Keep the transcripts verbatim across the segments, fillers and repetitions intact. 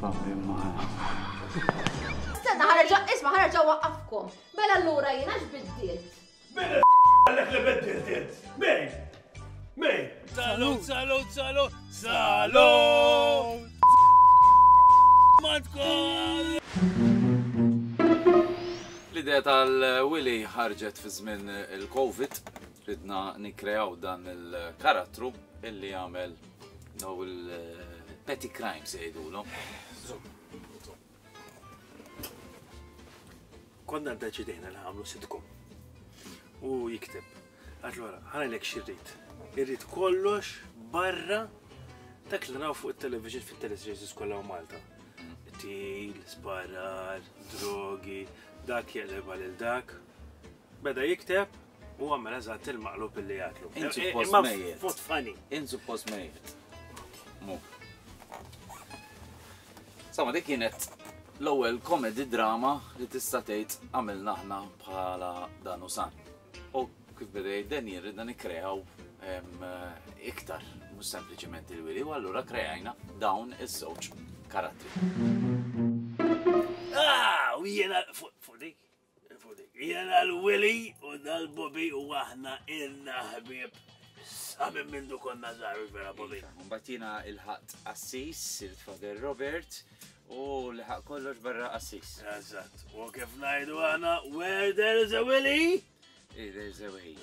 Stenna, ħa nerġa', isma', ħa nerġa' nwaqqafkom. Mela allura jiena x'biddilt? Min għalek li biddilt int? Min? Min? Salut, salut, salut, salut! Madkol! L-idea tal-Willy ħarġet fi żmien il-Covid, ridna nikkreaw dan il-karattru illi jagħmel daw il-petty crimes jgħidulhom. Konna ddeċidejna li nagħmlu sitcom. U jikteb. Għedtlu ara, ħa ngħidlek x'irrid. Irrid kollox barra dak li naraw fuq il-television fit-teleseries kollha u Malta. Til, sparar, drogi, dak jeqleb lil dak. Beda jikteb u għamel eżatt il-maqlub illi jagħtlu. Int suppost Imma mejjet. Fot funny. Int suppost mejjet. Mu. Insomma, dik kienet l-ewwel comedy drama li tista' tgħid għamilna aħna bħala Dan u San. U kif beda jgħid Daniel ridna nikkreaw em, iktar, mhux sempliċement il-Willy, u allura kreajna dawn iż-żewġ karattri. Ah, u jiena fuq fuq dik. Fuq dik. Jiena l-Willy u dal-Bobby u aħna ilna ħbieb. Sa minn mindu konna żgħar vera Bobby. Mbagħad jiena ilħaqt qassis, il-Father Robert, u liħaq kollox barra qassis. Eżatt. U kif ngħidu aħna, where there is a Willy? There's a way.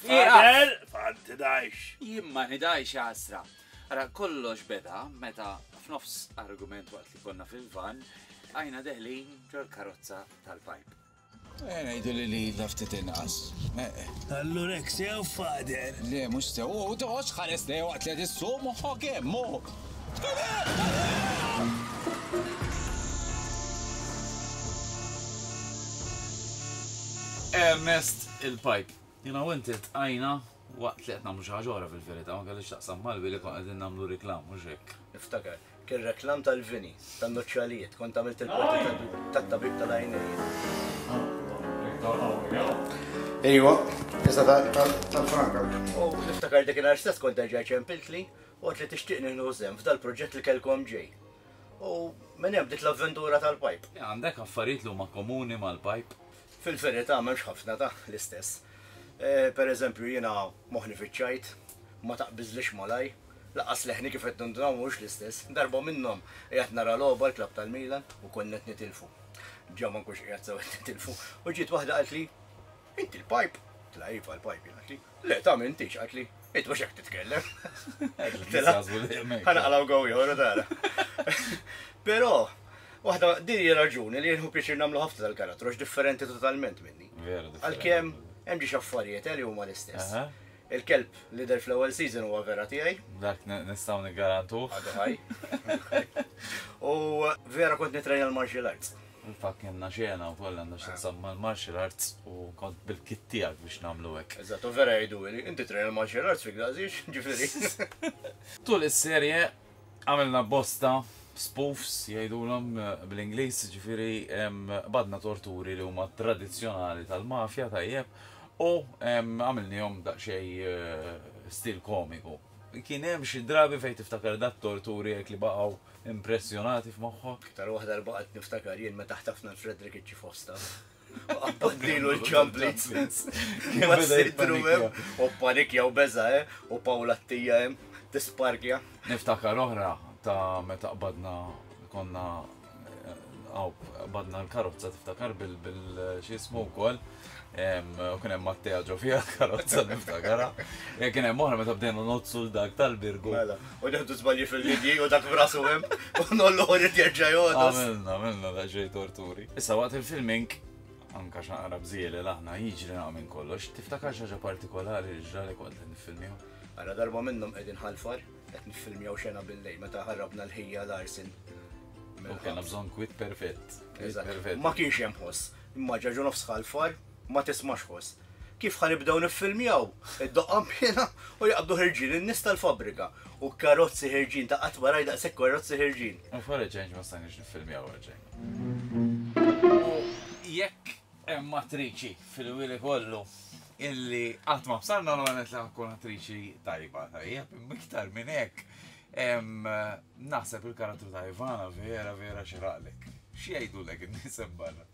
Father, fad tidajx. Jien ma nidajx għasra. Ara, kollox beda meta f'nofs argument waqt li konna fil-van, għajna deħlin ġol-karozza tal-pipe. Eh, ngħidu li li laftit inqas. Allura hekk sew, Father. Le, mhux sew. U toqgħodx ħares le waqt li qed issuq moħħok hemm, mu. Ernest il-pipe. Jiena u inti tqajna waqt li qed nagħmlu xi ħaġa oħra fil-verità, ma kellix taqsam mal-Willy kont qegħdin nagħmlu reklam, mhux hekk. Niftakar, kien reklam tal-vini, tan-noċċalijiet, kont għamilt il-parti tat-tabib tal-għajnejn. Ejwa, issa tal-Franka. U niftakar dik il stess kont erġa' ċempiltli u għedt li tixtieq nieħu sehem f'dal-proġett li kellkom ġej. U minn hemm bdiet l-avventura tal-pipe. Għandek affarijiet li huma komuni mal-pipe? Fil-verità m'hemmx ħafna ta' l-istess. Eh, per eżempju jiena moħni fiċ-ċajt, ma taqbiżlix malaj, laqas leħni kif qed nindunaw mhux l-istess. Darba minnhom qiegħed nara logħba l-klabb tal-Milan u konna qed nitilfu. Ġa ma nkunx qiegħed sew qed nitilfu. U ġiet waħda qaltli, inti l-pipe? Tla iva l-pipe, qaltli. Le ta' m'intix, qaltli. Int mhux hekk titkellem. Ħa naqalgħu gow ieħor tara. Però waħda din hija raġuni li nieħu pjaċir nagħmlu ħafna tal-karattru għax differenti totalment minni. Vera differenti. Għalkemm hemm ġiex affarijiet li huma l-istess. Aha. Il-kelb li der fl-ewwel season huwa vera tiegħi. Dak nistgħu niggarantuh. Għadu ħaj. U vera kont nitrejna l-martial arts. Infatti kellna xena wkoll għandha x'taqsam mal-martial arts u kont bil-kit tiegħek biex nagħmlu hekk. Eżatt, u vera jgħidu li inti trejna l-martial arts fik daqsiex, ġifieri. Tul is-serje għamilna bosta spoofs jgħidulhom bl-Ingliż, ġifieri badna torturi li huma tradizzjonali tal-mafja tajjeb u għamilnihom daqsxejn stil komiku. Kien hemm xi drabi fejn tiftakar dat torturi hekk li baqgħu impressjonati f'moħħok? Iktar waħda li baqgħet niftakar jien meta ħtafna l-Frederick iċ-Chief of Staff. Qabadnilu l-ċamplits. Kien Ma beda sidru hemm. jippanikja. U panikja u beża, eh? U Paola Attija hemm tisparkja. Niftakar oħra ta' meta qbadna konna għaw, qbadna l-karozza tiftakar bil-, bil x'ismu wkoll. U kien hemm Mattea ġo fiha l-karozza niftakarha. Ja kien hemm oħra meta bdejna nozzu l dak tal-Birgu. Mela, u nieħdu żbalji fil-linji u dak b'rasu hemm u nollu ħorid jerġa' jogħdos. Għamilna, għamilna daqsxejn torturi. Issa waqt il-filming anka x'naqra bżieli l-aħna jiġri naqra minn kollox, tiftakar xi ħaġa partikolari li ġralek waqt li niffilmjaw? Ara darba minnhom qegħdin ħalfar, qed niffilmjaw xena bil-lejl meta ħarrabna l-ħija l-arsin. U kellna bżonn kwit perfett. Kwit Eżatt. perfett. Ma kienx hemm ħoss. Imma ġaġu nofs ħalfar, ma tismax ħoss. Kif ħa nibdew niffilmjaw? Id-doqqa piena u jaqbdu ħirġin in-nies tal-fabrika. U karozzi ħirġin ta' qatt ma rajt daqshekk karozzi ħirġin. U for a change ma stajniex niffilmjaw għalxejn. U jekk hemm attriċi fil-wili kollu illi qatt ma bsarna l għanet li tkun attriċi tajba, tajjeb, imma iktar minn hekk Naħseb il-karattru ta' Ivana vera vera xiraqlek. X'jgħidulek in-nies hemm barra?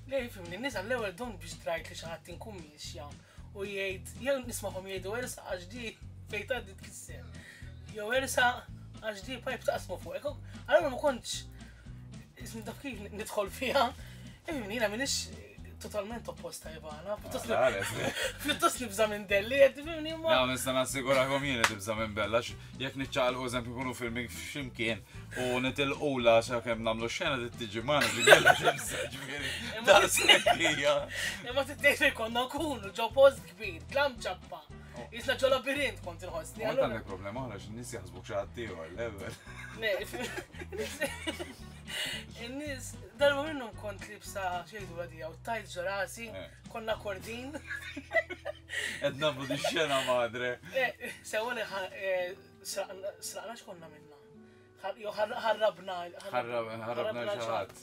Le, fimni, n-nies għall-ewwel dom biex drajt li xi ħadd inkun miexja u jgħid, jew nismagħhom jgħidu ersa għax di fejn tgħaddi tkisser. Jew ersa għax di pajp taqsmu fuqek. Allura ma kontx ismi taf kif nidħol fiha. Fimni, jiena m'iniex totalment opposta Ivana. Pjuttost nibża' minn Delli, qed tifhimni imma. No, nista' nassigurakom jien li tibża' minn Bella, jekk niċċaqalqu eżempju nkunu filming f'ximkien u nitilqula sakemm nagħmlu xena trid tiġi magħna ġifieri tibża' ġifieri. Daqshekk hija. Imma trid fejn konna nkunu ġo post kbir, dlam ċappa. Jisna ġo labirint kont inħossni. Ma għandek problema oħra x'in-nies jaħsbuk xi ħadd ieħor, level. In-nies, darba minnhom kont libsa xejdu għadija u tajt ġo rasi, konna kordin. Qed nagħmlu di xena madre. Sewa li sraqna x'konna minna. Jew ħarrabna. Ħarrabna xi ħadd.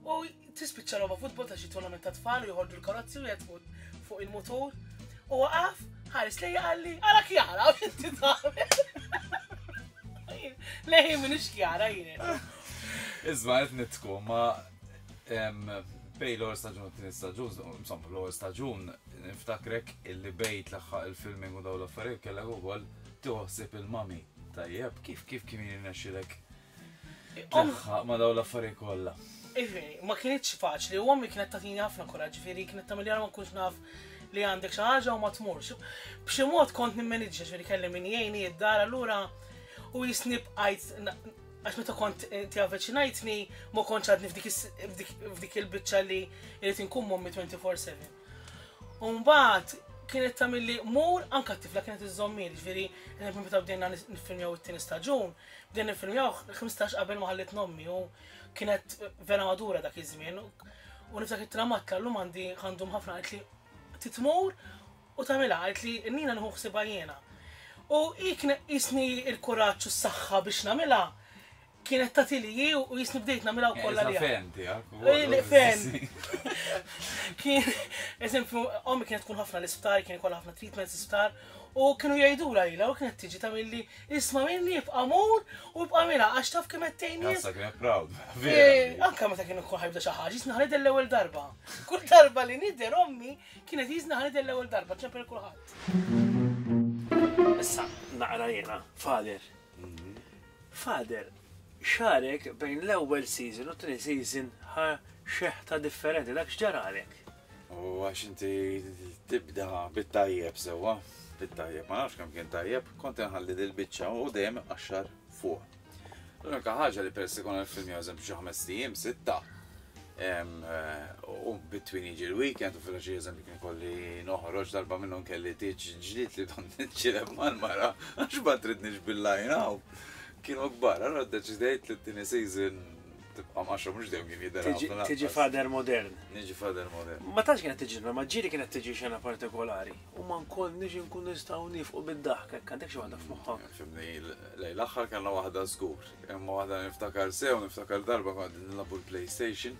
U tispiċċa logħba futbol ta' xi tournament ta' tfal u joħorġu l-karozzi u jgħid fuq il-mutur. U waqaf, ħares lejja qalli, ara Kjara, u inti tagħmel. Lejn m'iniex Kjara jien. Isma' qed nitku, ma bej l-ewwel staġun u t-tieni staġun, insomma l-ewwel staġun niftakrek illi bejt tlaħħaq il-filming u dawn l-affarijiet kellek ukoll tieħu il-mami. Tajjeb, kif kif kien jirnexxilek tlaħħaq ma dawn l-affarijiet kollha? Iveri, ma kienitx faċli, u ommi kienet tagħtini ħafna kuraġġ, ġifieri kienet tagħmel ma nkunx naf li għandek xi ħaġa u ma tmurx. B'xi mod kont nimmaniġġja, ġifieri kelli min jgħinni id-dar allura u jisni bqajt għax meta kont ti avviċinajtni ma kontx għadni f'dik il-biċċa li irid inkun mommi twenty-four seven. U mbagħad kienet tagħmilli mur anke t-tifla kienet iżżommili, ġifieri eżempju meta bdejna niffilmjaw it-tieni staġun, bdejna niffilmjaw ħmistax qabel ma ħallit nommi u kienet vera madura dak iż-żmien. U niftakar it-tramat llum għandi għandhom ħafna qalt li titmur u tagħmilha, qalt li nina nieħu ħsiebha jiena. U hi kienet jisni l-kuraġġ u s-saħħa biex nagħmilha, kienet tagħti li hi u jisni bdejt nagħmilha wkoll għalija. Fen tiegħek. Fen. Kien, eżempju, ommi kienet tkun ħafna l-isptar, kien ikollha ħafna treatments l-isptar, u kienu jgħidulha lilha u kienet tiġi tagħmilli isma' minni ibqa' mur u ibqa' minha għax taf kemm qed tgħin nies. Issa kienet proud. Anke meta kienu jkun ħajbda xi ħaġa, jisna ħanidher l-ewwel darba. Kull darba li nidher ommi kienet jisna ħanidher l-ewwel darba, ċempel kulħadd. Issa naqra jiena, Father. Father, xarek bejn l-ewwel season u t-tieni season ħa xeħta differenti, dak x'ġaralek? U għax inti tibda bit-tajjeb sewwa, bit-tajjeb, ma nafx kemm kien tajjeb, kont inħalli dil-biċċa u dejjem iqaxxar fuq. L-unika ħaġa li peress li konna nfilmjaw eżempju xi ħames ijiem, sitta, u bitwin jiġi l-weekend u fil-ħaxi eżempju kien kolli noħroġ darba minnhom kelli tieġ ġdid li don niċċileb mal-mara għax ma tridniex bil-line out. Kienu kbar, allura ddeċidejt li t-tieni season tibqa' mqaxxra mhux dejjem kien jidher ħafna Tiġi lanqas. father modern. Niġi father modern. Ma tantx kienet tiġi, ma ġieli kienet tiġi xena partikolari. U ma nkollniex inkun nistgħu nifqu bid-daħk, hekk għandek xi waħda f'moħħok. Fimni, lejn l-aħħar kellna waħda żgur. Imma waħda niftakar sew, niftakar darba kont nilagħbu l-PlayStation.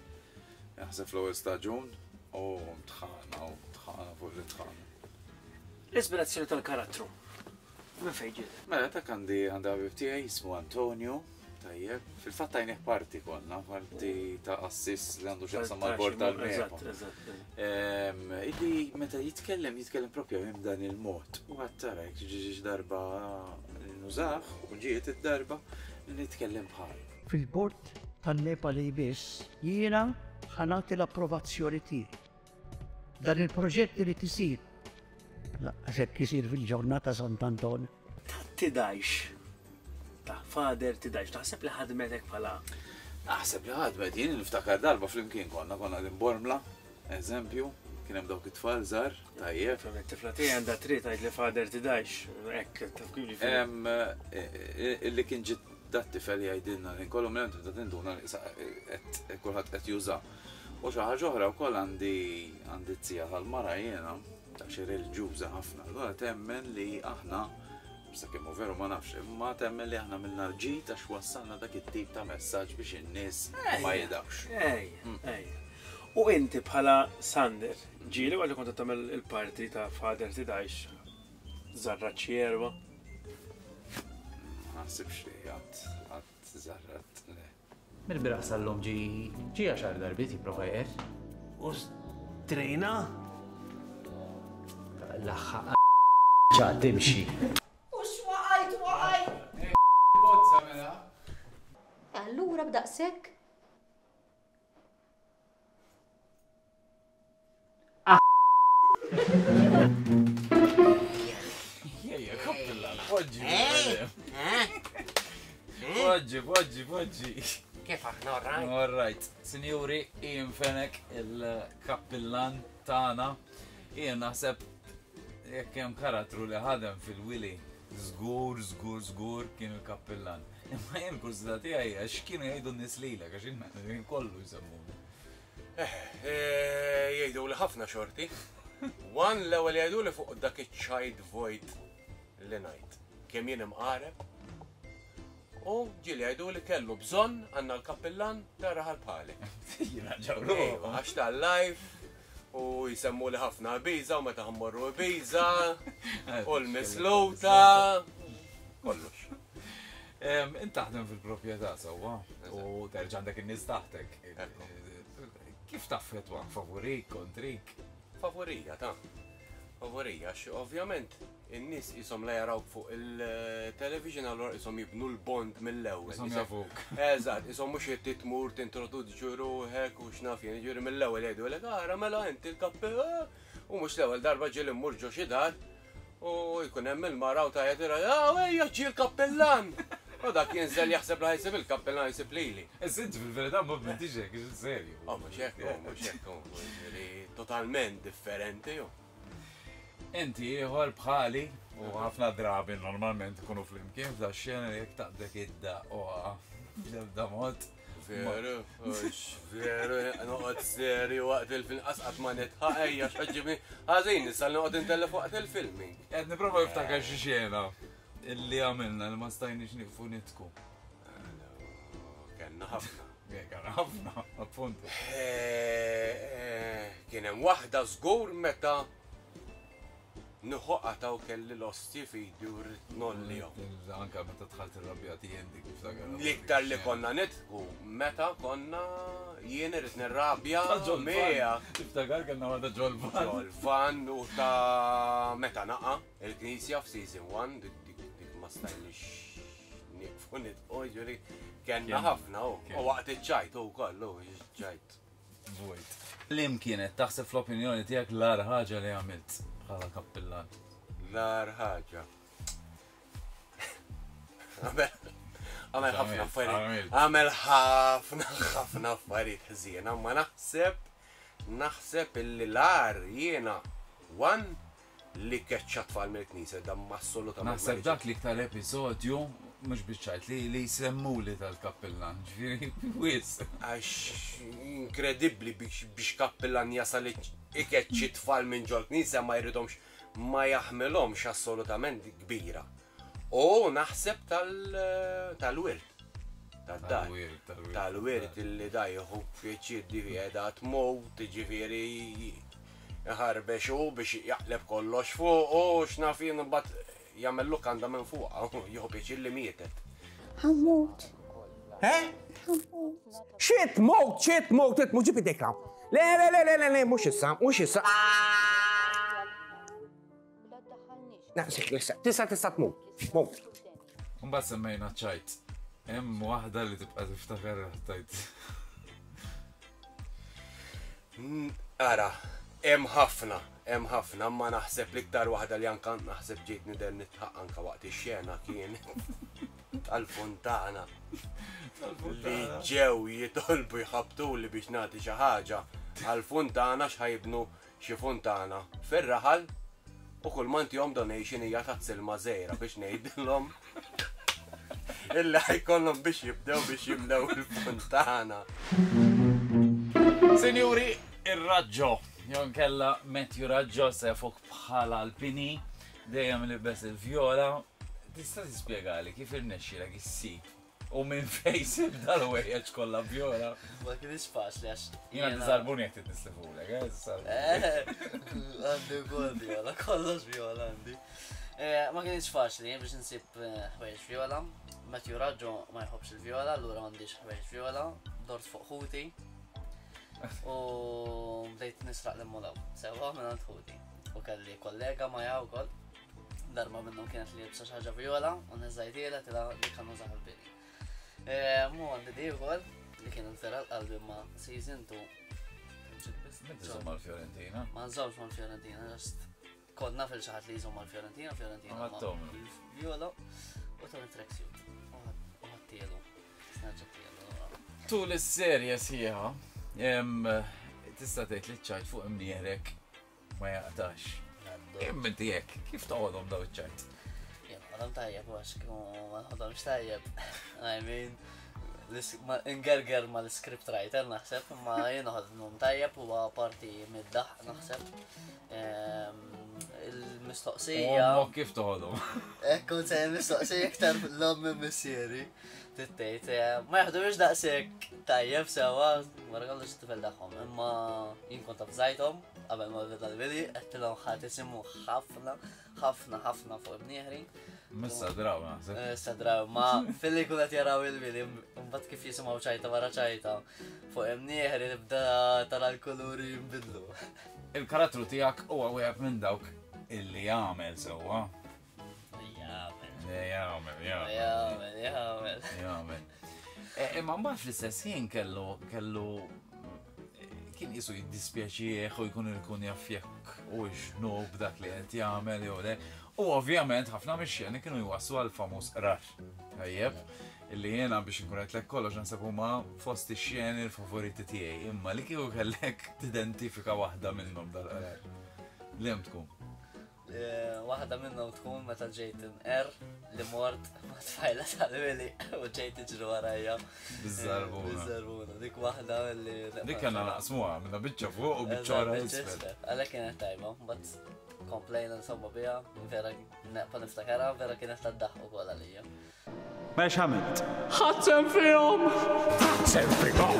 Jaħseb fl-ewwel staġun u tħana u tħana fuq li tħana. L-ispirazzjoni tal-karattru. Minn fejn ġiet? Mela dak għandi għandi ħabib tiegħi jismu Antonio, tajjeb. Fil-fatt tajnih parti konna, parti ta' assis li għandu x'jaqsam mal-bord tal-MEPA. Eżatt, eżatt. Illi meta jitkellem, jitkellem propju minn dan il-mod. U għad tara, jekk ġiġi darba nużah u ġiet id-darba nitkellem bħal. Fil-bord tan-MEPA li jmiss jiena ħa nagħti l-approvazzjoni tiegħi. Dan il-proġett irid isir. Laqqas hekk isir fil-ġurnata Sant'Anton. Tidajx. Ta' father tidajx. Taħseb li ħadmetek bħala? Naħseb li ħadmet, jien niftakar darba flimkien konna, konna din Bormla, eżempju, kien hemm dawk it-tfal żgħar, tajjeb. Fem, it-tifla tiegħi għandha trid tgħid li father tidajx, hekk taf kif ġifieri. Em, e, e, illi kien ġiet dat tifel jgħidilna li nkollu minn tibda tinduna li sa qed kulħadd qed juża. U xi ħaġa oħra wkoll għandi għandi t-tija tal-mara jiena, ta' xi reliġjuża ħafna. Allura temmen li aħna, sakemm hu veru ma nafx, imma temmen li aħna minna l-ġid għax wassalna dak it-tip ta' messaġġ biex in-nies ma jidawx. Ej, ej. U inti bħala Sander, ġieli waqt li kont tagħmel il-parti ta' Father Tidajx, żarra ċierwa? Ma naħsibx li għad għad żarrat le. Mill-bieraħ sal-lum ġi ġi għaxar darbiet jipprova jqer. U strejna? L-aħħa ċa timxi. U x'waqajt waqajt? Bozza mela. Allura b'daqshekk? Jejja, kappilla, poġġi. Poġġi, poġġi, poġġi. Kif aħna, all right? All right. Sinjuri, Ian Fenech, il-kappillan tagħna. Ian naħseb jekk hemm karattru li ħadem fil-Willy, żgur, żgur, żgur kien il-kappillan. Imma jien kurżità tiegħi għax kienu jgħidu n-nies lilek għax jien kollu jsemmuni. Eh, jgħidu li ħafna xorti. One l-ewwel jgħidu li fuq dak iċ-ċajt vojt li ngħid. Kemm jien imqareb. U ġieli jgħidu li kellu bżonn għandna l-kappillan ta' raħal bħalek. Jiena ġawru. Għax tal-live u jsemmu li ħafna Ibiza u meta ħammorru Ibiza u l-misluta. Kollox. Int taħdem fil-proprjetà sewwa u terġa' għandek in-nies taħtek. Kif taffettwak favorik, kontrik? Favorija ta' favorija, għax ovvjament in-nies qishom la jarawk fuq il-television allura qishom jibnu l-bond mill-ewwel. Qishom jafuk. Eżatt, qishom mhux qed tmur tintroduċi ruħek u x'naf jien, jiġifieri mill-ewwel jgħidulek ara mela inti l-kappe u mhux l-ewwel darba ġieli mmur ġo xi dar u jkun hemm il-mara u tgħajjat ah ejja ġie l-kappellan. U dak jinżel jaħseb li ħajsib il-kappellan jsib lili. Issa inti fil-verità ma bintix hekk, serju. Oh, mhux hekk, mhux hekk, jiġifieri totalment differenti. Inti ieħor bħali u ħafna drabi normalment ikunu flimkien f'da xena li jekk taqdek idda oqa bl-ebda mod. Veru, veru, noqgħod serju waqt il-film qas ma nitħaq ejja x'ħaġġibni ħażin issa noqgħod intellef waqt il-filming. Qed nipprova niftakar xi xena illi għamilna li ma stajniex nieqfu nitku. Kellna ħafna. Kellna ħafna, appuntu. Kien hemm waħda żgur meta nħoqqa taw kelli l-osti fidi u rrid nollihom. Anka meta dħalt irrabjati jien dik niftakar. L-iktar li konna nitku meta konna jien irrid nirrabja miegħek. Tiftakar kellna waħda ġol-van. Ġol-van u ta' meta naqa' il-knisja f'season one dik dik ma stajniex nieqfu nitqu ġifieri kellna ħafna u waqt iċ-ċajt u kollu ċajt. Vojt. Lim kienet taħseb fl-opinjoni tiegħek l-agħar ħaġa li għamilt bħala kappillan? L-agħar ħaġa. Għamel ħafna affarijiet. Għamel ħafna ħafna affarijiet ħżiena, ma naħseb naħseb illi l-agħar jiena one li keċċa tfal mill-knisja dan assolutament. Naħseb dak l-iktar episodju mhux biċ-ċajt li li jsemmuli tal-kappillan, ġifieri wis. Għax inkredibbli biex kappillan jasal ikeċċi tfal minn ġol-knisja ma jridhomx ma jaħmilhomx assolutament kbira. U naħseb tal-wirt. Tad-dar. Tal-wirt illi da jieħu pjaċir qiegħda tmut, ġifieri jħarbex u biex jaqleb kollox fuq u x'naf jien imbagħad jagħmel lukanda minn fuqha u jieħu pjaċir li mietet. Ħammut. Eh? Xi tmut, xi tmut, tmut ġib idejk hawn. Le, le, le, le, le, le, mhux issa, mhux issa. Naqsik issa, tista' tista' tmut. Mut. Mbagħad semmejna ċajt. Hemm waħda li tibqa' tiftakar tajt. Ara, hemm ħafna, hemm ħafna, ma naħseb l-iktar waħda li anka naħseb ġejt nidher nitħaq anka waqt ix-xena kien tal-Fontana. Li ġew jitolbu jħabtuli biex nagħti xi ħaġa għall-Fontana x'ħajbnu xi fontana fir-raħal u kull ma ntihom donation hija ta' silma żgħira biex ngħidilhom illi ħajkollhom biex jibdew biex jimlew il-fontana. Sinjuri, ir-Raġġo. Jon kella Matthew Raġġo se jafuk bħala Alpini, dejjem libes il-vjola. Tista' tispjegali kif irnexxielek issib u minn fejn sib dal-wejjeġ kollha vjola? Ma kienx faċli għax. Jiena tiżarbuni jekk titnislifulek, eh? Għandi wkoll vjola, kollox vjola għandi. Ma kienx faċli biex nsib ħwejjeġ viola. Matthew Raggio ma jħobbx il-viola, allura m'għandix ħwejjeġ viola, dort fuq ħuti. U bdejt nisraq l-immolaw, sewwa minn għand ħuti. U kelli kollega maja wkoll. Darba minnhom kienet li jibsa xi ħaġa viola u niżżajtiela tilha li kien użaha l-bini. Mu għandi di wkoll li kien vera l-qalbi ma season two. Inti żomm mal-Fiorentina? Ma nżommx mal-Fiorentina, just konna fil xi ħadd li jżomm mal-Fiorentina, Fiorentina Ma viola u tani tracksuit. U ħadtielu. Snaġġatielu. Tul is-serje sħiħa, tista' tgħid li ċ-ċajt fuq imnieħrek ma jaqtax. Imma inti hekk, kif toħodhom daw iċ-ċajt? Jien noħodhom tajjeb għax kieku ma noħodhomx tajjeb. I mean, ingerger ma l-script writer naħseb, imma jien noħodhom tajjeb huwa parti mid-daħq naħseb. Il-mistoqsija. Ommok kif toħodhom? Ekku se mistoqsija iktar l-omm minn missieri. Tittejt, ma jaħdux daqshekk tajjeb sewwa, wara kollox it-tifel tagħhom, imma jien kont avżajthom qabel ma beda l-bili, għedtilhom ħa tisimgħu ħafna, ħafna, ħafna fuq imnieħri. Missa draw, naħseb. Issa draw, ma filli kun qed jaraw il-bili, mbagħad kif jisimgħu ċajta wara ċajta fuq imnieħri nibda tara l-kuluri jinbidlu. Il-karattru tiegħek huwa wieħed minn dawk illi jagħmel sewwa. Jagħmel. Jagħmel, jagħmel. Jagħmel, jagħmel. Jagħmel. Imma mbagħad fl-istess ħin kellu kellu kien qisu jiddispjaċih u jkun ikun jaf jekk u x'nu b'dak li qed jagħmel jew le. U ovvjament ħafna mix-xeni kienu jwassu għal famuż qrar. Tajjeb, illi jiena biex inkun qed lek kollox naħseb huma fost ix-xeni l-favoriti tiegħi, imma li kieku kellek tidentifika waħda minnhom dal-qrar. Liema tkun? Waħda minnhom tkun meta ġejt inqer li mort ma' tfajla tal-wili u ġejt tiġri warajja. Biż-żarbuna. Biż-żarbuna, dik waħda li Dik kellna naqsmuha, minna biċċa fuq u biċċa wara isfel. Għalhekk kienet tajba, mbagħad komplejna insomma biha, vera neqpa niftakarha, vera kienet tad-daħq ukoll għalija. Ma x'għamilt? Ħadd fihom! Ħadd fihom!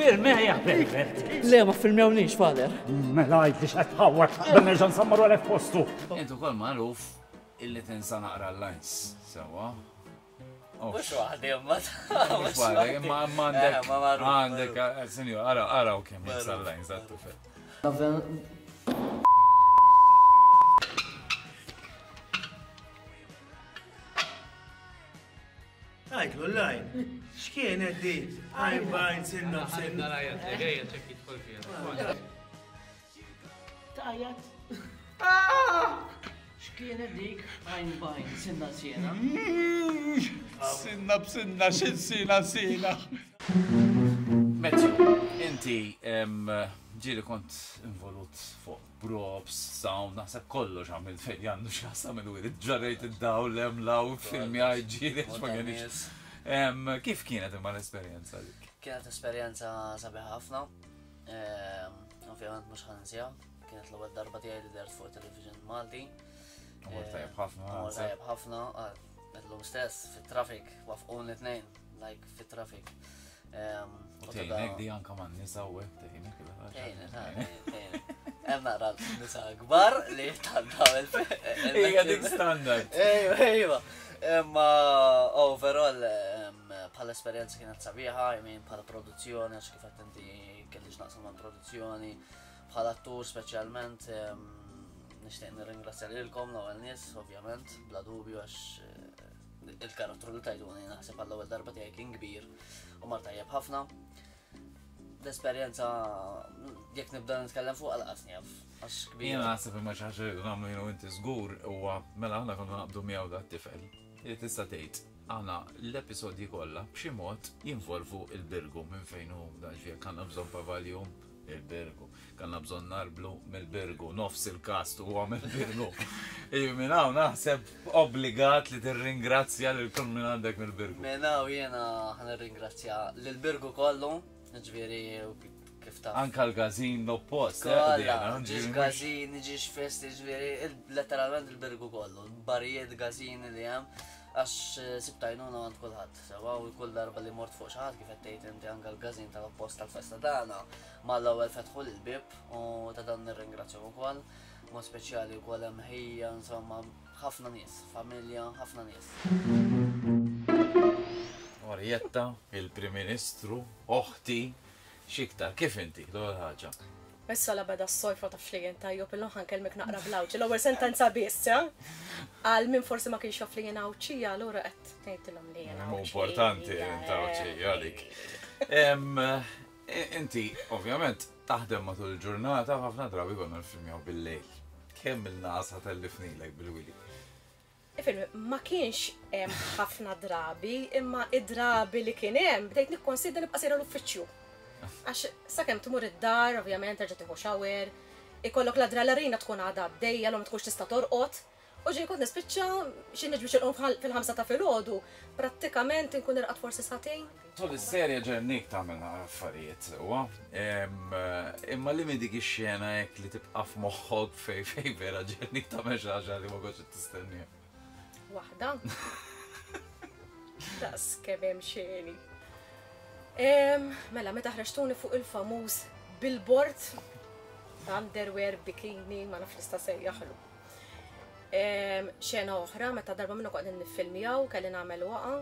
Filmejja, Herbert. Le, ma filmjawnix, father. Mela, għidli x'qed tħawwar, dan nerġa' nsammaru għalek postu. Int ukoll magħruf illi tinsa naqra l-lines, sewwa. Mhux waħdi imma. Mhux waħdek, imma għandek. Għandek, sinjur, ara, ara u kemm jinsa l-lines għat-tifel. Għajtlu l-lajn. X'kienet di? Għajn bajn, sinna b'sinna. Tajat. X'kienet dik? Għajn bajn, sinna sena. Sinna b'sinna, x'in sina sina. Matthew, inti ġieli kont involut fuq props, sound, naħseb kollox għamilt fejn għandu x'jaqsam il-wirid, ġarrejt id-dawl, hemm law, filmja, ġieli, ma kienx. Kif kienet imma l-esperjenza dik? Kienet esperjenza sabiħa ħafna. Ovvjament mhux ħa ninsiha. Kienet l-ewwel darba tiegħi li dert fuq television Malti. Mor tajjeb ħafna. Mor tajjeb ħafna, illum stess fit-traffic wafquni tnejn, like fit-traffic. U tgħinek di anka man-nisa u hekk tgħinek. Tgħinek, tgħinek. Hemm naqra nisa kbar li tantaw il- Ejja dik standard. Ejwa, ejwa. Imma overall bħala esperjenza kienet sabiħa, I mean bħala produzzjoni, għax kif qed inti kelli x'naqsam mal produzzjoni, bħala attur speċjalment nixtieq nirringrazzja lilkom l-ewwel nies, ovvjament, bla dubju għax il-karattru li tajtuni naħseb għall-ewwel darba tiegħi kien kbir u mar tajjeb ħafna. L-esperjenza jekk nibda nitkellem fuq għal njaf, għax kbir. Jiena naħseb imma xi ħaġa li nagħmlu jiena u inti żgur huwa mela aħna konna naqbdu miegħu dat tifel. Li tista' tgħid aħna l-episodji kollha b'xi mod jinvolvu il-Birgu minn fejn hu dan ġifier kellna bżonn pavaljun il-Birgu, kellna bżonn narblu mill-Birgu, nofs il-kast huwa mill-Birgu. Minn hawn naħseb obbligat li tirringrazzja lil kull min għandek mill-Birgu. Minn hawn jiena ħa nirringrazzja lill-Birgu kollu, ġifieri Kif taf. Anka l-gazin l-oppost. Kolla, ġiex gazin, ġiex festi, ġifieri, letteralment il-Birgu kollu, barijiet gazin li hemm, għax sibtajnuna għand kulħadd. Sewa u kull darba li mort fuq xi ħadd kif qed tgħid inti anke l-gazin tal-oppost tal-festa tagħna, mal-ewwel fetħu l-bib u ta' dan nirringrazzjahom ukoll. Mod speċjali wkoll hemm ħija, insomma, ħafna nies, familja, ħafna nies. Orietta, il-Prim Ministru, oħti, x'iktar, kif inti, l-ewwel ħaġa? Issa la beda s-sojfa ta' flijin tajjob, illum ħankellmek naqra bl-Għawdxi, l-ewwel sentenza biss, eh? Għal min forsi ma kienx jaf li jien Għawdxija, allura qed ngħidilhom li jien Mhu importanti int Għawdxija għalik. Inti, ovvjament, taħdem matul il-ġurnata, ħafna drabi konna nfilmjaw bil-lejl. Kemm il-nasa tellifnilek bil-wili? Ifhem, ma kienx hemm ħafna drabi, imma id-drabi li kien hemm bdejt nikkonsidra nibqa' sejra l-uffiċċju. Għax sakemm tmur id-dar, ovvjament terġa' tieħu shower, ikollok l-adrenalina tkun għadha għaddejja, l ma tkunx tista' torqod. U ġej kont nispiċċa xi niġi biex inqum fil-ħamsa ta' filgħodu, prattikament inkun irqad forsi sagħtejn. Tul is-serje ġennik tagħmel affarijiet sewwa. Imma li minn dik ix-xena hekk li tibqa' f'moħħok fej fej vera ġennik tagħmel xi ħaġa li ma kontx tistenniha. Waħda. Daqs kemm hemm xeni. Mela, meta ħreġtuni fuq il-famuż billboard, underwear, bikini, ma nafx nista' sejjaħlu. Xena oħra, meta darba minnu qegħdin niffilmjaw, kelli nagħmel waqa,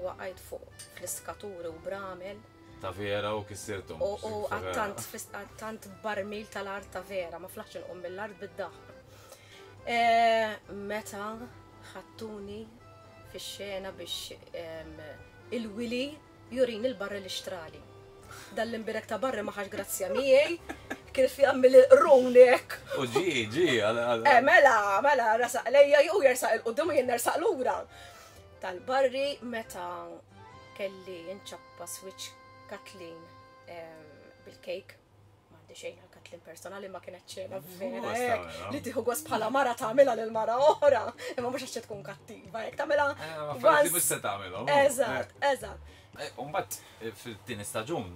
waqajt fuq fl-iskaturi u bramel. Ta' vera u kissirtom. U għattant barmil tal-art ta' vera, ma flaħx inqum mill-art bid-daħ. Meta ħattuni fix-xena biex il-Willy jurin il-barri li xtrali. Dal-imbirek ta' barri ma ħax grazzja miegħi, kif jagħmel il-qrun hekk. U ġi, ġi, għal għal. Eh, mela, mela, rasaq lejja jew jersaq il-qudiem u jien nersaq lura. Tal-barri meta kelli nċappa switch Kathleen bil-kejk, m'għandi xejn għal Kathleen personali ma kienet xena vera hekk, li tieħu gost bħala mara tagħmilha lil mara oħra, imma mhux għax tkun kattiva, hekk tagħmilha. Affarijiet mhux se tagħmilhom. Eżatt, eżatt. Umbagħad fil-tieni staġun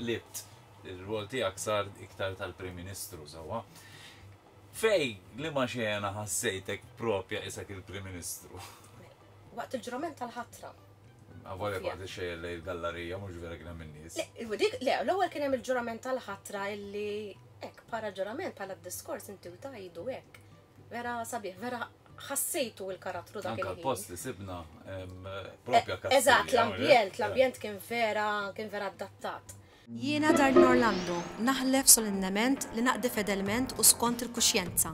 libt il-rwol tiegħek sar iktar tal-Prim Ministru sewwa. Fej li ma xena ħassejtek propja isek il-Prim Ministru? Waqt il-ġurament tal-ħatra. Avolja waqt ix-xejn lejn il-gallerija mhux vera kien hemm in-nies. Le, le, l-ewwel kien hemm il-ġurament tal-ħatra illi hekk para ġurament bħala diskors inti u tajdu hekk. Vera sabiħ, vera ħassejtu il-karattru dak Anka l-post li sibna propja Kastilja. Eżatt, l-ambjent, l-ambjent kien vera, kien vera adattat. Jiena Darlene Orlando, naħlef solennement li naqdi fedelment u skont il-kuxjenza.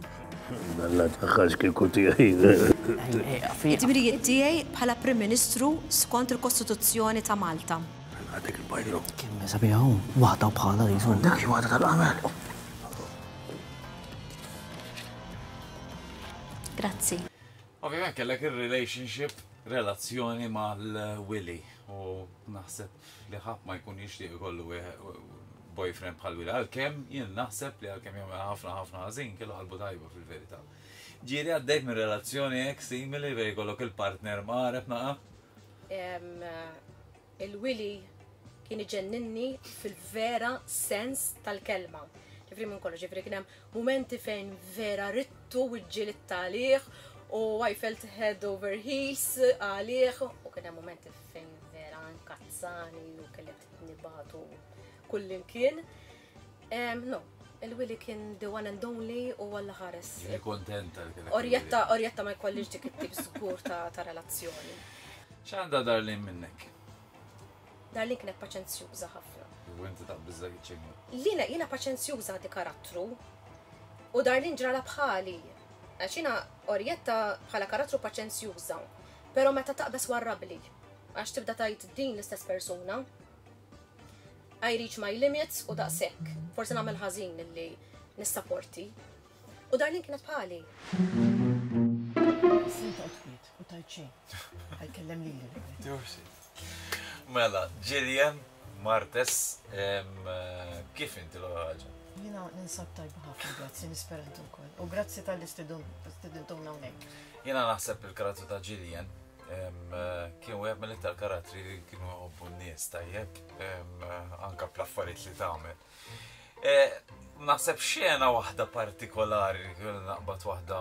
Dalla taħħax kieku tiegħi. Id-dmirijiet tiegħi bħala Prim Ministru skont il-Kostituzzjoni ta' Malta. Għadek il-bajru. Kemm sabiħa hawn, waħda bħala li jkun. Dak waħda tal-qamel. Grazzi. Ovvjament kellek il-relationship, relazzjoni mal-Willy u naħseb li ħadd ma jkun jixtieq ikollu boyfriend bħal Willy, għalkemm jien naħseb li għalkemm jagħmel ħafna ħafna ħażin kellu qalbu tajba fil-verità. Ġieli għaddejt minn relazzjoni hekk simili fejn jkollok il-partner maqareb naqa? Il-Willy kien iġenninni fil-vera sens tal-kelma. Ġifri minn kollox, ġifri kien hemm momenti fejn vera rittu u ġġielidt għalih u I felt head over heels għalih u kien hemm momenti fejn vera nkazzani u kelli nibatu kullimkien. No, il-Willy kien the one and only u għalla ħares. Ġieli kontenta li kellek Orjetta, Orjetta ma jkollix dik it-tip żgur ta' relazzjoni. X'għandha Darlene minnek? Darlene kienet paċenzjuża ħafna. U inti taqbiżlek iċ-ċinga. Lina jiena paċenzjuża di karattru u Darlene ġrala bħali. Għax jiena Orjetta bħala karattru paċenzjuża, però meta taqbeż warrabli għax tibda tajt din l-istess persuna. I reach my limits u daqshekk. Forsi nagħmel ħażin illi nissaporti. U Darlene kienet bħali. Sinta twiet u tajt xejn. Għajkellem lili. Mela, Gillian Martes, kif inti l-ħaġa? Jiena ninsab tajba ħafna, grazzi, nispera intom ukoll. U grazzi tal-istidun, istidintuna hawnhekk. Jiena naħseb il-karattru ta' Gillian Kien wieħed mill-iktar karattri li kienu jħobbu n-nies tajjeb, anka bl-affarijiet li tagħmel. Naħseb xena waħda partikolari li kienu naqbad waħda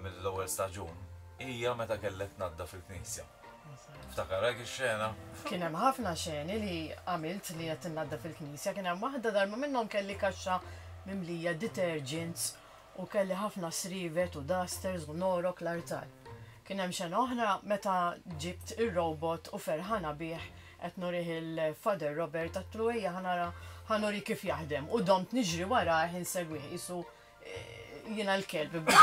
mill-ewwel staġun hija meta kellek tnaddaf fil-knisja. Ftakar hekk ix-xena? Kien hemm ħafna xeni li għamilt li qed innaddaf fil-knisja, kien hemm waħda darba minnhom kelli kaxxa mimlija detergents u kelli ħafna srivet u dusters u norok l-artal. Kien hemm xena oħra meta ġibt ir-robot u ferħana bih qed nurih il-Father Robert għedtlu ejja ħa nara ħa nuri kif jaħdem u domt niġri wara insegwih qisu jiena l-kelb niġri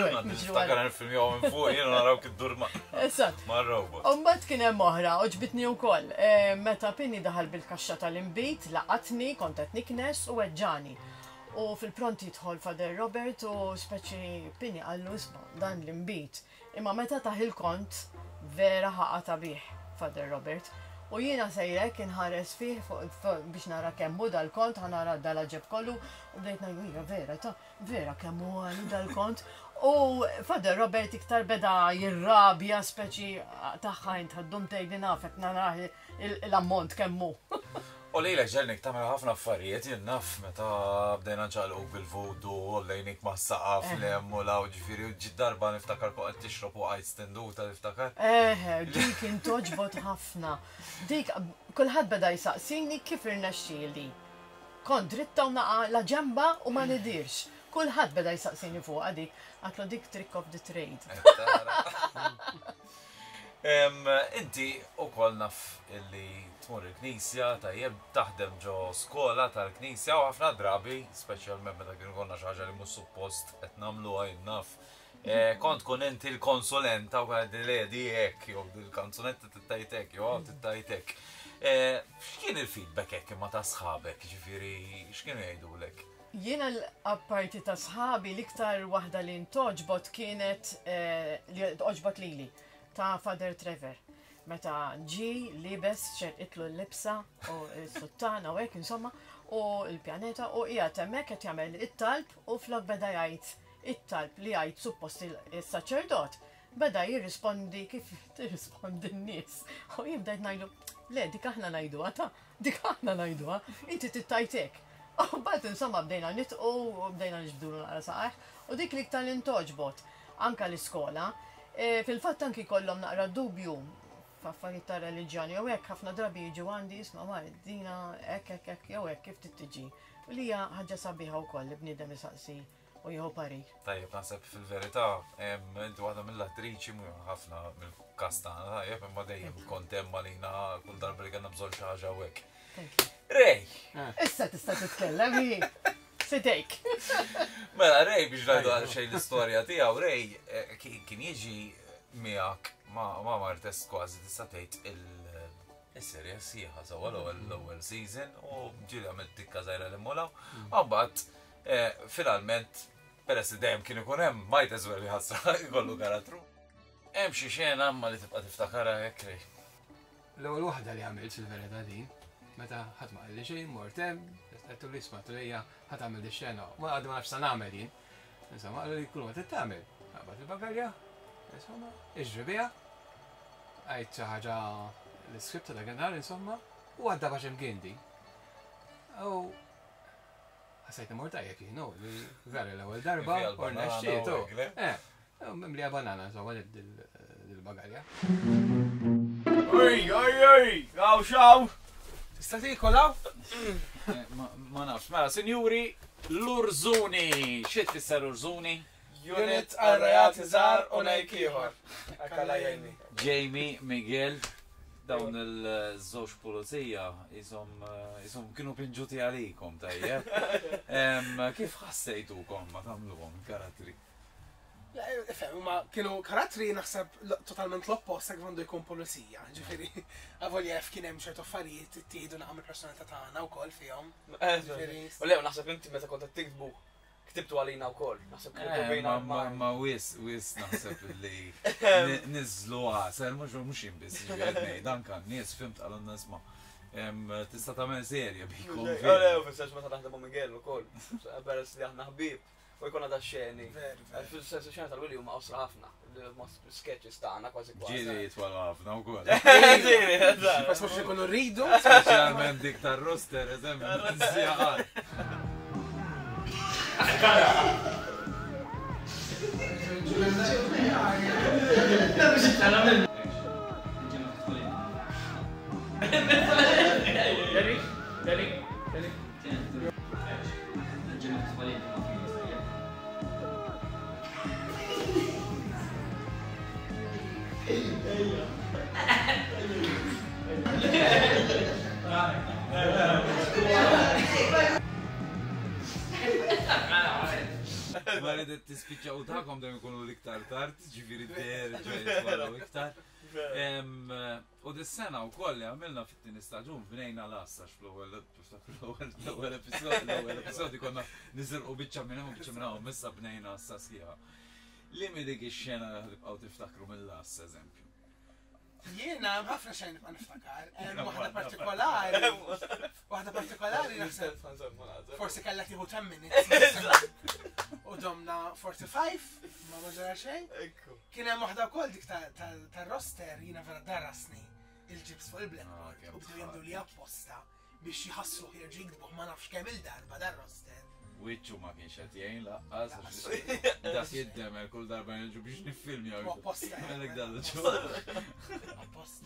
wara. Niftakar nifilm jew minn fuq jiena naraw kif dur ma' Eżatt. mar-robot. U mbagħad kien hemm oħra, għoġbitni wkoll. Meta Pini daħal bil-kaxxa tal-inbid, laqatni, kont qed niknes u weġġani. U fil-pront jidħol Father Robert u speċi Pini qallu isma' dan l-inbid. Imma meta tah il-kont vera ħaqata bih Father Robert. U jiena sejrek inħares fih biex nara kemm hu dal-kont, ħa nara dal-ġeb kollu, u bdejt ngħidu hija vera ta' vera kemm hu għali dal-kont. U Father Robert iktar beda jirrabja speċi tagħha int ħaddum tgħidli nafek nara l-ammont kemm hu. U lilek ġelnik tagħmel ħafna affarijiet, jien naf meta bdejna nċaqlqu bil-voodoo, u lejnik mas-saqaf l-hemm u law, ġifieri u ġid darba niftakar fuq qed tixrob u qajt stenduta niftakar. Eħe, dik intoġbot ħafna. Dik kulħadd beda jsaqsini kif irnexxieli. Kont dritta u naqa' la ġemba u ma nidirx. Kulħadd beda jsaqsini fuqha dik, għatlu dik trick of the trade. Inti ukoll naf illi tmur il-knisja, tajjeb taħdem ġo skola tal-knisja u ħafna drabi, speċjalment meta kienu konna xi ħaġa li mhux suppost qed nagħmluha jien naf. Kont tkun inti l-konsulenta u kont li di hekk jew il-kanzunetta tittajt hekk jew hawn tittajt hekk. X'kien il-feedback hekk imma ta' sħabek, ġifieri x'kienu jgħidulek? Jiena l-apparti ta' sħabi l-iktar waħda li ntoġbot kienet li toġbot lili ta' Father Trevor. Meta ġi libes xerqitlu l-libsa u s-suttana u hekk insomma u l-pjaneta u qiegħed hemmhekk qed jagħmel it-talb u flok beda jgħid it-talb li jgħid suppost is-saċerdot beda jirrispondi kif tirrispondi n-nies. U jien bdejt ngħidlu, le dik aħna ngħiduha ta' dik aħna ngħiduha, inti tittajtek. U mbagħad insomma bdejna nitqu u bdejna niġbdulu naqra saqajh u dik l-iktar li ntoġbot anka l-iskola. Fil-fatt anki kollhom naqra dubju f'affarijiet ta' reliġjoni jew hekk ħafna drabi jiġu għandi isma' ma dina hekk hekk hekk jew hekk kif tittiġi. U li hija ħaġa sabiħa wkoll li bniedem isaqsi u jieħu parir. Tajjeb, naħseb fil-verità, inti waħda mill-attriċi mhu ħafna mill-kast tagħna, tajjeb, imma dejjem kont hemm għalina kull darba li kellna bżonn xi ħaġa u hekk. Ray! Issa tista' titkellem hi. Fidejk. Mela Ray biex ngħidu għal xejn l-istorja tiegħu, Ray kien jiġi miegħek ma' Martes kważi tista' tgħid il-serje sħiħa sewwa l-ewwel season u ġieli għamilt tikka żgħira li mmulaw. Mbagħad finalment peress li dejjem kien ikun hemm might as well ħasra jkollu karattru. Hemm xi xena imma li tibqa' tiftakarha hekk Ray. L-ewwel waħda li għamilt fil-verità din, meta ħadd ma qalli xejn, mort hemm, għedtu li isma' lejja ħa tagħmel di xena, ma għadu ma nafx sa nagħmel jien. Insomma, qalu li kull ma trid tagħmel. Qabad il-bagalja, insomma, iġri biha, għidt xi ħaġa l-iskript ta' dakinhar, insomma, u għadda bax imkien din. U ħassejt imur tajjeb jien, li vera l-ewwel darba, u rnexxiet. Eh, mimlija banana, insomma, dil-bagalja. Ej, ej, ej, għaw xaw! Tista' tiekol hawn? Ma nafx, mela, sinjuri, l-Urzuni. Xi tfisser Urzuni? Unit għal-reati żgħar u nejk ieħor. Akkala jgħinni. Jamie, Miguel, dawn il-żewġ pulizija jisom jisom kienu pinġuti għalikom tajjeb. Kif ħassejtukom ma tagħmluhom karattri? Ifhem, ma kienu karattri naħseb totalment l-oppost kif għandu jkun pulizija. Ġifieri, avolja jaf kien hemm ċertu affarijiet ittieħdu naqam il-personalità tagħna wkoll fihom. U le, naħseb inti meta kont qed tiktbu ktibtu għalina wkoll. Naħseb ktibtu bejna. Ma wis, wis naħseb li niżlu għasel, mhux mhux jien biss ġifieri ngħid, anke n-nies fimt qalulna isma' tista' tagħmel serje bikom. Le, fis-sens meta naħdem ma' Miguel ukoll. Peress li aħna ħbieb. U jkollna da xeni. Fil-sens xena tal-Willy huma qosra ħafna. Sketches tagħna kważi kważi. Ġieli jitwalu ħafna wkoll. Ġieli, eżatt. Bas mhux ikunu rridu. Speċjalment dik tar-roster, eżempju, sigħat. Ready? Ready? Ready? Ma ridet tispiċċa u tagħkom dejjem ikunu l-iktar tard, ġifieri terġa' jitwalu iktar. U dis-sena wkoll li għamilna fit-tieni staġun bnejna l-għassa fl-ewwel l-ewwel episodju l-ewwel episodju konna niżirqu biċċa minn hemm u biċċa minn hawn, issa bnejna għassa sħiħa. Li mi dik ix-xena li tibqgħu tiftakru mill-għassa eżempju? Jiena hemm ħafna xejn nibqa' niftakar. Hemm waħda partikolari. Waħda partikolari naħseb. Forsi kellha tieħu ten minutes. U domna forty-five, ma ma ġara xejn. Kien hemm waħda wkoll dik tar-roster jiena vera darasni il-ġibs fuq il-blackboard u bdew jagħmlu li apposta biex jħassu jerġgħu jiktbuh ma nafx kemm il-darba dar-roster. Wiċċu ma kienx qed jgħin laqqas dak jiddemer kull darba nerġu biex niffilmjaw. Apposta. Għalhekk dan l-ġol. Apposta.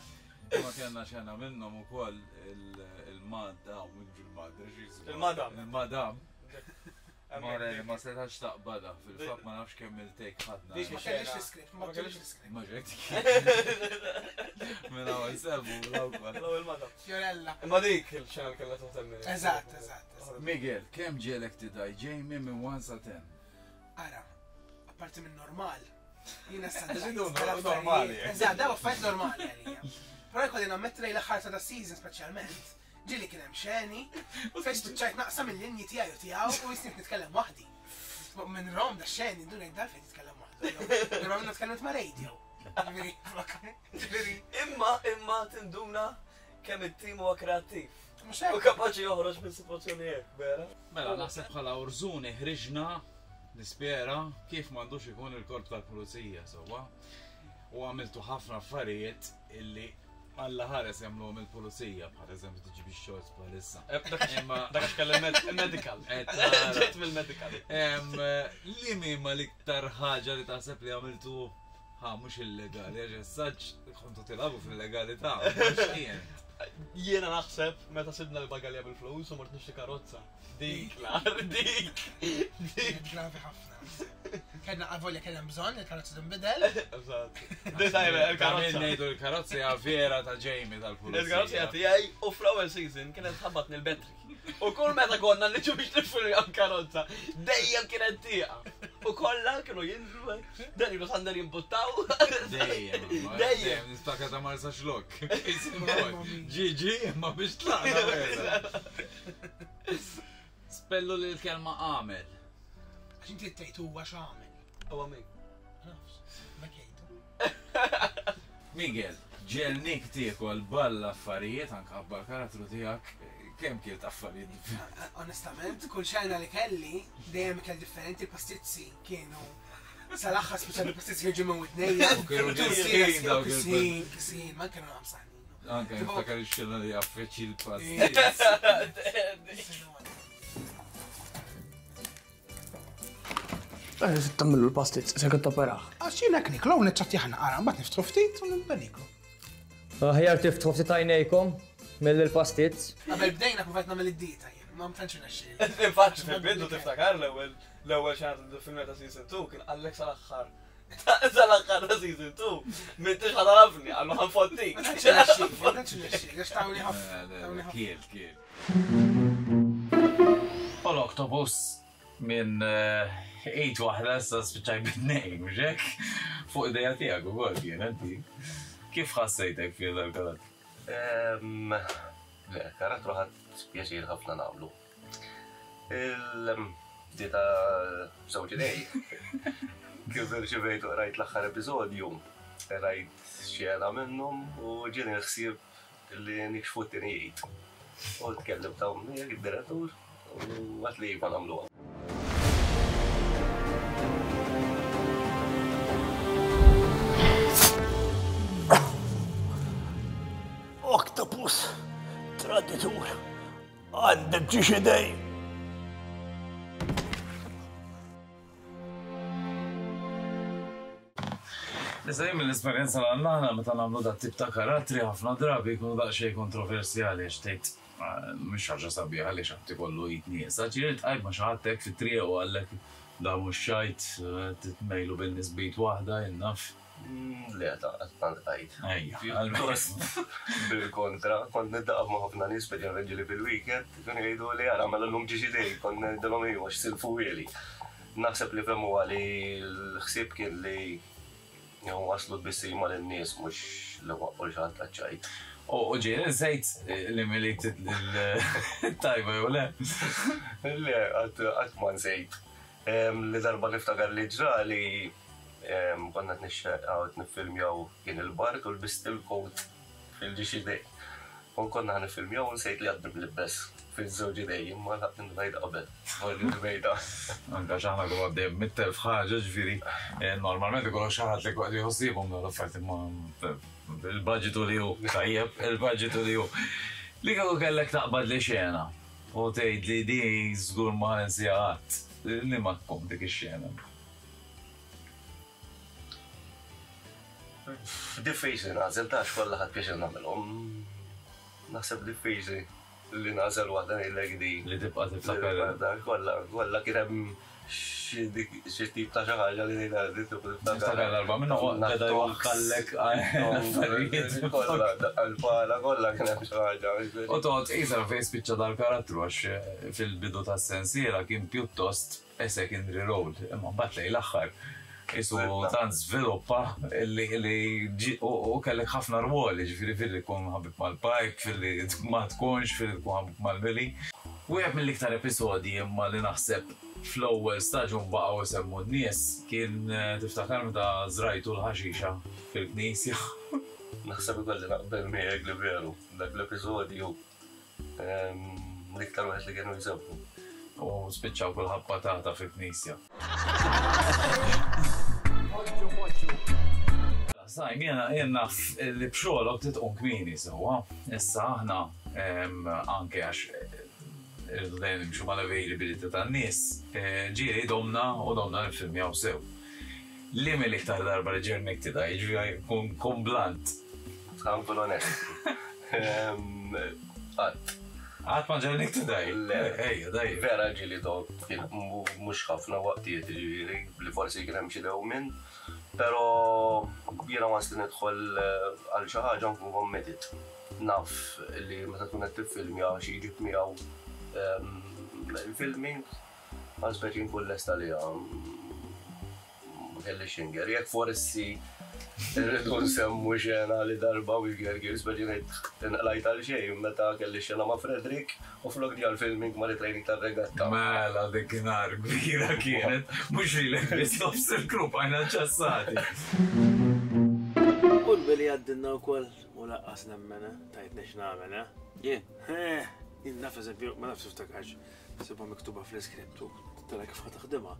Ma kellna xena minnhom ukoll il-madda u minn il-madda x'jismu. Il-madam. Il-madam. Morelli ma setax taqbada, fil-fatt ma nafx kemm il-take ħadna. Ma kellix l-iskript, ma kellix l-iskript. Ma ġejt. Minn hawn nsemmu l-awkwar. L-ewwel madam. Fiorella. Imma dik il-xena li kellha ten minutes. Eżatt, eżatt. Miguel, kemm ġielek tidaj Jamie minn one sa ten? Ara, apparti minn normal. Jiena sa Normali. Eżatt, daw affarijiet normali għalija. Però jkolli nammetti lejn l-aħħar ta' da season speċjalment. Ġieli kien hemm xeni, fejn spiċċajt naqsam il-linji tiegħi u tiegħu u jisni nitkellem waħdi. Minn Rom da xeni ndun ngħid dal fejn titkellem waħdu. Darba minnu tkellimt ma' radio. Imma imma tinduna kemm it-tim huwa kreattiv. Mhux U kapaċi joħroġ minn sitwazzjoni hekk, vera? Mela naħseb bħala Urzuni ħriġna nispera kif m'għandux ikun il-korp tal-pulizija sewwa. U għamiltu ħafna affarijiet illi Alla ħares jagħmluhom il-pulizija, bħal eżempju tiġi bix shorts bħalissa. Imma dak għax kellem medical. Ġejt mill-medical. Li ma l-iktar ħaġa li taħseb li għamiltu ħa mhux illegali, għax essaġġ kontu tilagħbu fil-legalità, mhux jien. Jiena naħseb meta sibna l-bagalja bil-flus u mort nixtri karozza. Dik l-ar, dik. Dik. Gravi ħafna. Kellna għavolja kellna bżonn il-karozza tinbidel. Eżatt. Dejjem il-karozza. Ngħidu l-karozza hija vera ta' Jamie tal-pulizija. Il-karozza hija tiegħi u fl-ewwel season kienet ħabbatni l-betri. U kull meta konna niġu biex nifilmjaw karozza, dejjem kienet tieqa. U kollha kienu jinżlu, dan ilu Sander jimbuttaw. Dejjem. Dejjem. Nistaka ta' Marsa Xlok. Ġiġi, ma biex tlaqna. Spellu li l-kelma għamel. Għax inti tgħid huwa x'għamel. Huwa min? Nafx, ma jgħidu. Miguel, ġelnik tiekol balla affarijiet anke ħabba l-karattru tiegħek, kemm kielt affarijiet differenti? Onestament, kull xena li kelli, dejjem ikel differenti, il-pastizzi kienu sal-aħħar speċjali il-pastizzi kienu ġimgħu widnejja. U kienu ġisħin dawk il- Kisin, kisin, ma kienu għamsaħnin. Anke niftakar ix-xena li jaffeċi l-pastizz. Tammillu l-pastizz, se kont operaħ. Għax jiena niklu neċċatti ħana qara, mbagħad niftħu ftit u nibda niklu. Aħjar tiftħu ftit għajnejkom mill-pastizz. Qabel bdejna provajt nagħmel id-dieta jien, ma tantx irnexxieli. Infatti fil-bidu tiftakar l-ewwel l-ewwel xena tal-film ta' season two kien qallek sal-aħħar. Sal-aħħar ta' season two. M'intix ħadarafni, qallu ħanfottik. Ma tantx irnexxieli, ma tantx irnexxieli, għax tawni ħafna. tawni ħafna. Kiel, kiel. U l-octopus minn ejt waħda issa spiċċaj bit-tnejn, mhux hekk? Fuq idea tiegħek ukoll kien inti. Kif ħassejtek fih dal-karattru? Le, karattru ħadd pjaċir ħafna nagħmlu. Il-dieta żewġ idej. Kif irċivejt u rajt l-aħħar episodju, rajt xena minnhom u ġieni l-ħsieb li nikxfu t-tieni jgħid. U tkellim ta' miegħek id-direttur u għat li iva nagħmluha. Traditur, għandek ġiex idej. Issa jien mill-esperjenza li għandna aħna meta nagħmlu dat tip ta' karattri ħafna drabi jkunu daqsxejn kontroversjali għax tgħid mhux ħaġa sabiħa li xi ħadd ikollu id nieqsa. Ġieli tqajt ma' xi ħadd hekk fit-triq u qallek da mhux xajt titmejlu bin-nies b'id waħda jien naf. Le, ta' qatt ma ltqajt. Ejja. Pjuttost bil-kontra, kont niddaqa' ma' ħafna nies speċjalment ġieli fil-weekend, kienu jgħiduli ara mela llum ġiex idejk, kont ngħidilhom ejwa x'silfuhieli. Naħseb li fehmuha li l-ħsieb kien li waslu tbissima lin-nies mhux li waqqgħu 'l xi ħadd għaċ-ċajt. U ġieli nsejt li miliet it-tajba jew le? Le, qatt ma nsejt. Li darba niftakar li ġrali konna qed nixxeqgħu qed niffilmjaw kien il-bard u lbist il-coat fil-ġiex idej. U konna ħa niffilmjaw u nsejt li għadni mlibbes fiż-żewġ idej imma lħaqt indunajt qabel. Forsi l-bejda. Anke għax aħna konna għaddejjin mitt elf ħaġa, ġifieri normalment ikollok xi ħadd li jkun qed jieħu ħsiebhom dawn l-affarijiet imma il-budget hu li hu, tajjeb, il-budget hu li hu. Li kieku kellek taqbad li xena u tgħid li di żgur ma ħa ninsiha qatt, liema tkun dik ix-xena? Diffiċli nagħżel ta' għax kollha ħadt pjaċir nagħmilhom. Naħseb diffiċli li nagħżel waħda ngħidlek di. Li tibqa' tiftakar. Kollha, kollha kien hemm xi tip ta' xi ħaġa li ngħidha di tibqa' tiftakar. Niftakar darba minnhom beda jwaħħallek affarijiet. Kollha, daqqa l-pala, kollha kien hemm xi ħaġa. U toqgħod tqis għalfejn spiċċa dal-karattru għax fil-bidu tas-sensiela kien pjuttost a secondary role, imma mbagħad lejn l-aħħar qisu tant żviluppa li u kellek ħafna rwoli, ġifieri filli tkun ħabib mal-Pike, filli ma tkunx, filli tkun ħabib mal-Milly. Wieħed mill-iktar episodji imma li naħseb fl-ewwel staġun baqgħu jsemmu n-nies kien tiftakar meta żrajtu l-ħaxixa fil-knisja. Naħseb ikolli naqbel miegħek li veru dak l-episodju l-iktar wieħed li kienu jsemmu. U spiċċaw kulħadd patata fil-knisja. Sajm, jena jien naf li b'xogħolok titqum kmieni sewwa. Issa aħna anke għax irridu dejjem nimxu mal-availability tan-nies, ġieli domna u domna niffilmjaw sew. Li mill-iktar darba li ġernik tidgħi, jiġifieri kun kun blunt. Ħa nkun onest. Qatt. Qatt ma ġernik tidgħi? Le. Ejja, dejjem. Vera ġieli domt, mhux ħafna waqtiet jiġifieri li forsi kien hemm xi dewmien, però jiena once li nidħol għal xi ħaġa nkun committed. Naf li meta tkun qed tiffilmja xi jġib miegħu il-filming, għal speċi nkun lest għaliha. Ma kellix xinger. Jekk forsi rridu nsemmu xena li darba u jgergir, speċi ngħid inqlajt għal xejn meta kelli xena ma' Frederick u flok ġie għall-filming ma' training tar-regatta. Mela dik nhar kbira kienet, mhux lilek biss nofs il-grupp għajna ċassati. U l-Billy għaddilna wkoll u laqqas nemmen, eh? Tajtni x'nagħmel, eh? Jien. Eh, jien naf eżempju, ma nafx tiftakarx, sibha miktuba fl-iskript u tara kif ħa taħdimha.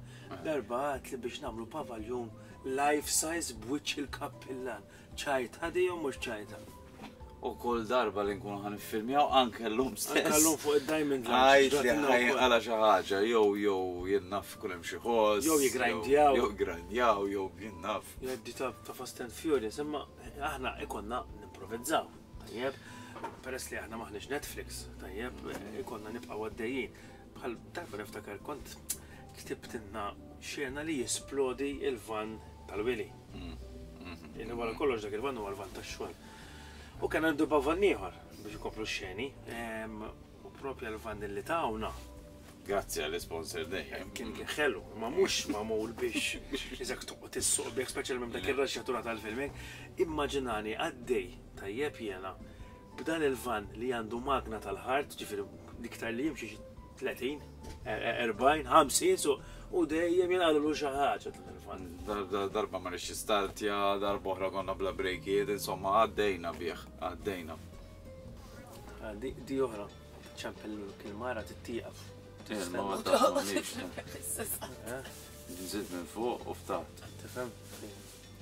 Darba għad li biex nagħmlu pavaljun life size b'wiċċ il-kappillan. Ċajta di jew mhux ċajta? U kull darba li nkunu ħa niffilmjaw anke llum stess. Anke llum fuq id-Diamond Lounge. Għajt li ħajqala xi ħaġa, jew jew jien naf kull hemm xi ħoss. Jew jiggrindjaw. Jew jiggrindjaw, jew jien naf. Jgħaddi ta' Fast and Furious, imma aħna ikonna nimprovizzaw. Tajjeb, peress li aħna maħniex Netflix, tajjeb, ikonna nibqgħu għaddejjin. Bħal darba niftakar kont ktibtilna xena li jisplodi il-van tal-Willy. Illi wara kollox dak il-van huwa l-van tax-xogħol. U kien għandu van ieħor biex ikomplu x-xeni, u propja l-van li tawna. Grazzi għall-sponsor dejjem. Kien kien ħelu, ma mhux magħmul biex iżek toqgħod issuq bih, speċjalment dak ir-raxxatura tal-filming. Immaġinani għaddej tajjeb jiena b'dan il-van li għandu magna tal-ħart, ġifieri l-iktar li jimxi xi tletin, erbgħin, ħamsin, su, u dejjem jinqallu xi ħaġa dan il-van. Darba ma rridx startja, darba oħra konna bla brejkiet, insomma għaddejna bih, għaddejna. Di, di oħra, ċempel il-mara tittieqaf. Nżid minn fuq u ftaħt. Tifhem?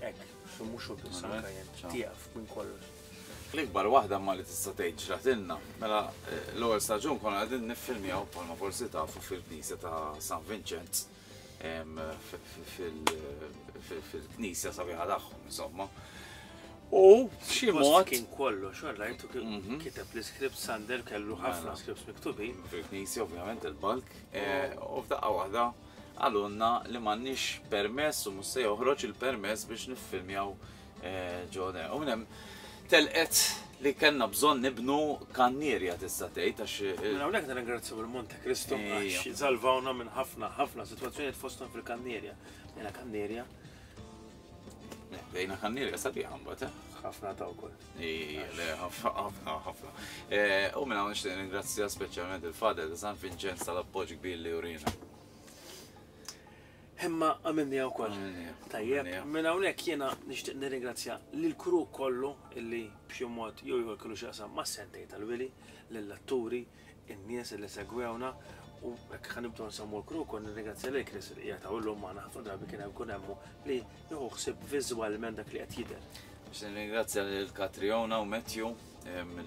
Hekk, xi mhux hu biss anke jien, tieqaf minn kollox. L-ikbar waħda ma li tista' tgħid ġratilna, mela l-ewwel staġun konna qegħdin niffilmjaw bħalma forsi tafu fil-knisja ta' San Vincenz, fil-knisja sabiħa tagħhom, insomma. U xi mod kien kollox, rajtu kiteb l-iskript Sander kellu ħafna scripts miktubin. Fil-knisja ovvjament il-balk, u f'daqqa waħda għalunna li m'għandniex permess u mhux se joħroġ il-permess biex niffilmjaw ġo. U minn hemm telqet li kellna bżonn nibnu kannierja tista' tgħid għax. Minn hawnhekk nirringrazzjaw il-Monte Cristo għax salvawna minn ħafna ħafna sitwazzjonijiet fosthom fil-kannierja. Bdejna kannierja. Bdejna kannierja sabiħa mbagħad, eh? Ħafna ta' wkoll. Ejja, le, ħafna, ħafna. U minn hawn nixtieq nirringrazzja speċjalment il-Father ta' San Vincenz tal-appoġġ kbir li urina. Imma għamilniha wkoll. Tajjeb, minn hawnhekk jiena nixtieq nirringrazzja lill-crew kollu illi b'xi mod jew ieħor kellu x'jaqsam mas-sentej tal-Willy, lill-atturi, in-nies illi segwewna u hekk ħa nibdew nsemmu l-crew kol nirringrazzja lil Chris li qiegħed hawn illum magħna ħafna drabi kien hemm ikun hemm li jieħu ħsieb viżwalment dak li qed jidher. Biex nirringrazzja lil Katriona u Matthew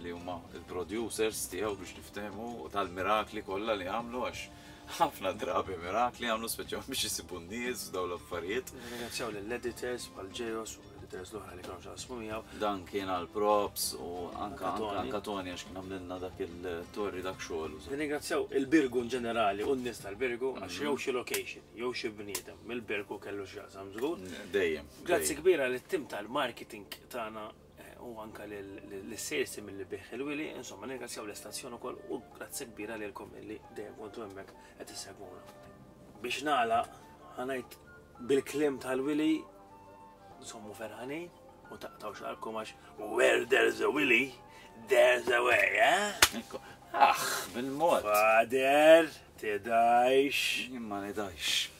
li huma il-producers tiegħu biex niftehmu u tal-mirakli kollha li għamlu għax ħafna drabi mirakli għamlu speċjalment biex isibu n-nies u dawn l-affarijiet. Nirringrazzjaw lill-editors bħal Ġejos u l-editors l-oħra li kienu x'jaqsmu miegħu. Dan kien għal props u anka Tony. anka Tony għax kien għamlilna dak il-torri dak xogħol. Nirringrazzjaw il-Birgu in ġenerali u n-nies tal-Birgu għax jew xi location, jew xi bniedem mill-Birgu kellu x'jaqsam żgur. Dejjem. Grazzi kbira lit-tim tal-marketing tagħna u anka l-sales team li bih il-Willy, insomma nirringrazzjaw l-istazzjon ukoll u grazzi kbira lilkom illi dejjem kontu hemmhekk qed issegwuna. Biex nagħlaq ħa ngħid bil-kliem tal-Willy insommu ferħanin u taqtaw xalkom għax where there's a Willy, there's a way, eh? Aħ, bil-mod. Father, tidajx. Imma nidajx.